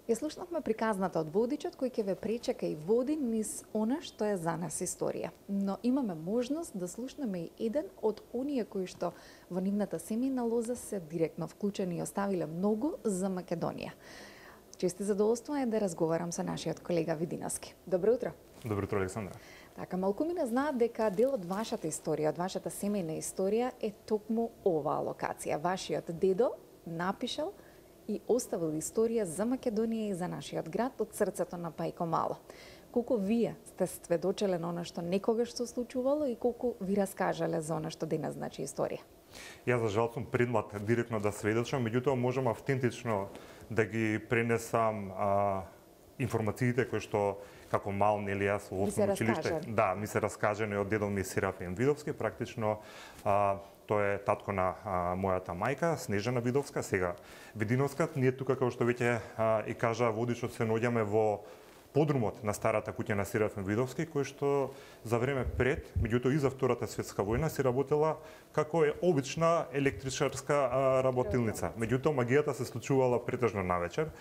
Ја слушнавме приказната од водичот кој ќе ве пречека и води низ она што е за нас историја. Но имаме можност да слушнеме и еден од оние кои што во нивната семејна лоза се директно вклучени и оставиле многу за Македонија. Чести задоволство е да разговарам со нашиот колега Видиновски. Добро утро. Добро утро, Александра. Така, малкумина знаат дека дел од вашата историја, од вашата семејна историја е токму оваа локација. Вашиот дедо напишал и оставил историја за Македонија и за нашиот град од срцето на Пајко Мало. Колку вие сте сведочеле на она што некогаш се случувало и колку ви раскажале за она што денес значи историја? Јас за жал сум предмлад директно да сведочам, меѓутоа можам автентично да ги пренесам информациите кои што како мал, нели јас во основно училиште, да, ми се раскажани од дедо ми Серафим Видовски, практично тој е татко на мојата мајка, Снежана Видовска, сега Видиновска. Ние тука, како што веќе и кажа водичот, се наоѓаме во подрумот на старата куќа на Серафим Видовски, кој што за време пред, меѓутоа и за Втората светска војна, се работела како обична електричарска работилница. Меѓутоа магијата се случувала претежно навечер,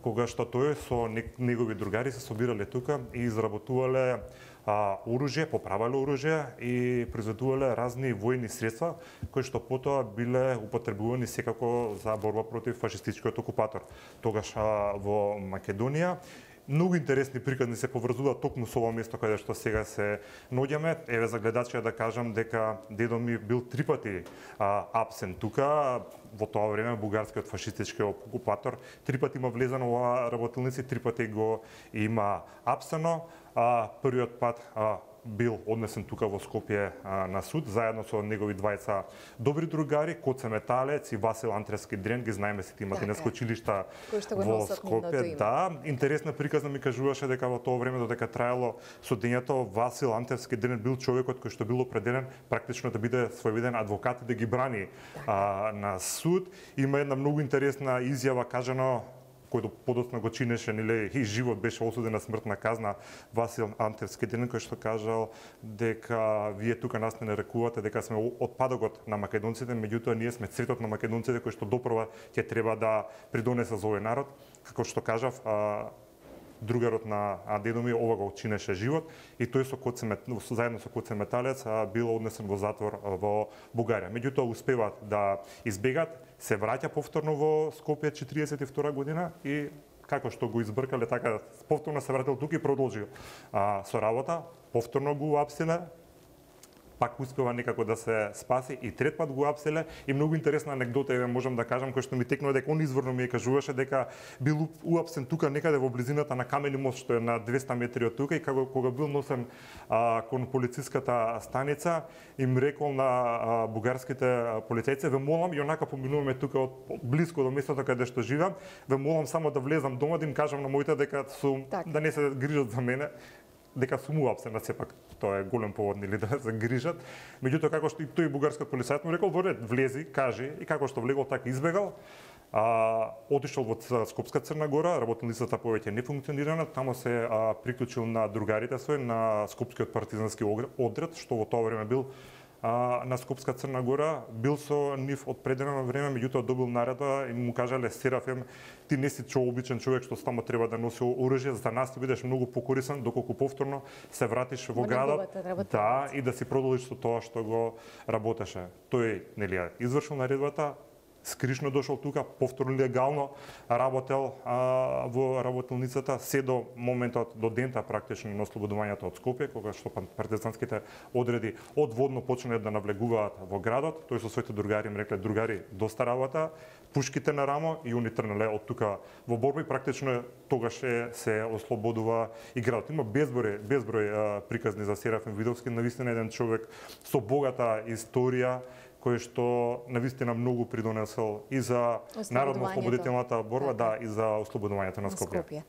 кога што тој со негови другари се собирале тука и изработувале оружје, поправале оружје и произведувале разни војни средства кои што потоа биле употребувани секако за борба против фашистичкиот окупатор. Тогаш во Македонија многу интересни приказни се поврзуваат токму со ова место каде што сега се наоѓаме. Еве за гледачите да кажам дека дедо ми бил 3 пати апсен тука. Во тоа време бугарскиот фашистички окупатор 3 пати има влезено во работилници, 3 пати го има апсено. Првиот пат бил однесен тука во Скопје на суд, заедно со негови двајца добри другари, Коце Металец и Васил Антревски Дрен, ги знаеме сите имате денеска училишта во Скопје. Да, интересна приказна ми кажуваше дека во тоа време додека траело судењето, Васил Антревски Дрен бил човекот кој што бил определен практично да биде своевиден адвокат и да ги брани на суд. Има една многу интересна изјава кажано кој подоцна го чинеше, нели, и живот беше осуден на смртна казна, Васил Антревски Дрен, кој што кажал дека вие тука нас не нарекувате дека сме отпадокот на македонците, меѓутоа ние сме цветот на македонците кој што допрва ќе треба да придонесе за овој народ. Како што кажав, другарот на дедо ми ова го чинеше живот и тој заедно со Коце Металец бил однесен во затвор во Бугарија. Меѓутоа успеваат да избегат, се враќа повторно во Скопје 42 година и како што го избркале, така повторно се вратил тука и продолжил со работа, повторно го апселе, пак успева некако да се спаси и трет пат го апселе. И многу интересна анегдота можам да кажам, кој што ми текнува дека он изворно ми кажуваше дека бил уапсен тука некаде во близината на Камени мост што е на 200 метри од тука и кога бил носен кон полициската станица, им рекол на бугарските полицајци: ве молам, и онака поминуваме тука од близко до местото каде што живеам, ве молам само да влезам дома да им кажам на моите дека сум да не се грижат за мене, дека сум уапсен, сепак тоа е голем повод нели да се грижат. Меѓутоа како што и тој бугарскиот полицајец му рекол: влези, кажи, и како што влегол така избегал. Отишол во Скопска Црна Гора, работилницата повеќе не функционирана, тамо се приклучил на другарите свој на Скопскиот партизански одред, што во тоа време бил на Скопска Црна Гора, бил со нив од предено време, меѓутоа добил наредба и му кажале: Серафим, ти не си обичен човек што само треба да носи оружје, за нас ти бидеш многу покорисен доколку повторно се вратиш во градот, да, и да си продолжиш со тоа што го работеше. Тој нели извршил наредбата, скришно дошол тука, повторно легално работел во работилницата, се до моментот, до дента практично на ослободувањето од Скопје, кога што партизанските одреди одводно почнале да навлегуваат во градот. Тој со своите другари им рекле: другари, доста работа, пушките на рамо, и они тргнале од тука во борба и практично тогаш се ослободува и градот. Има безброј приказни за Серафим Видовски, навистина еден човек со богата историја, кој што навистина многу придонесел и за народно-ослободителната борба, да, и за ослободувањето на Скопје.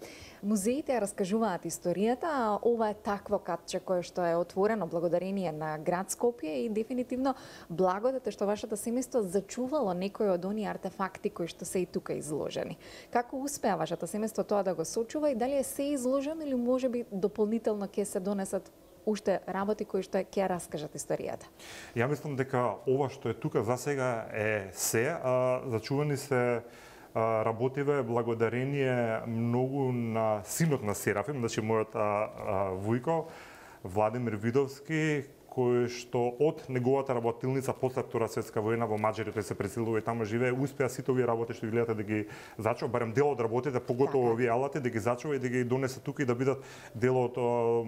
Музеите ја раскажуваат историјата, а ова е такво катче кое што е отворено благодарение на град Скопје и дефинитивно благодата што вашето семејство зачувало некои од оние артефакти кои што се и тука изложени. Како успеа вашето семејство тоа да го сочува и дали е се изложено или можеби дополнително ќе се донесат уште работи кои што ќе раскажат историјата? Ја мислам дека ова што е тука за сега е се, зачувани се работиве благодарение многу на синот на Серафим, значи мојот вујко Владимир Видовски, кој што од неговата работилница после Втора светска војна во Маđарија, тој се преселува и таму живее, успеа сите овие работи што ги гледате да ги зачува, барем дел од работите, поготово овие алати, да ги зачува и да ги донесе тука и да бидат дел од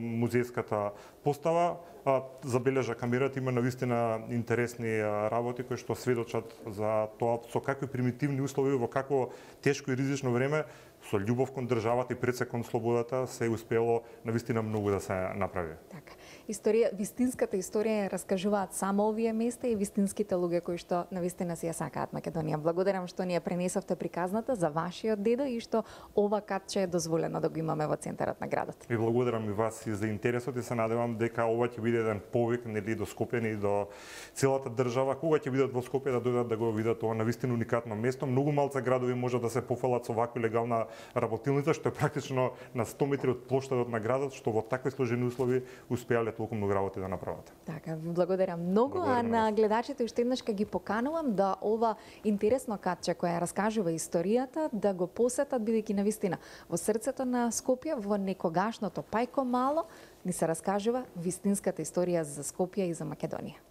музејската постава. Забележа камерата, има навистина интересни работи кои што сведочат за тоа со какви примитивни услови, во какво тешко и ризично време, со љубов кон државата и пред кон слободата се успело навистина многу да се направи. Така. Вистинската историја ја раскажуваат само овие места и вистинските луѓе кои што навистина си ја сакаат Македонија. Благодарам што ни ја пренесовте приказната за вашиот дедо и што ова катче е дозволено да го имаме во центарот на градот. И благодарам и вас и за интересот и се надевам дека ова ќе биде еден повик нели до Скопје и до целата држава, кога ќе бидат во Скопје да дојдат да го видат ова навистина уникатно место. Многу малце градови може да се пофалат со ваква легална работилница, што е практично на 100 метри од плоштадот на градот, што во такви сложени услови успеале толку многу работи да направат. Така, ви благодарам многу, а на гледачите уште еднаш ќе ги поканувам да ова интересно катче која раскажува историјата да го посетат, бидејќи навистина во срцето на Скопје, во некогашното Пајко мало, ни се раскажува вистинската историја за Скопје и за Македонија.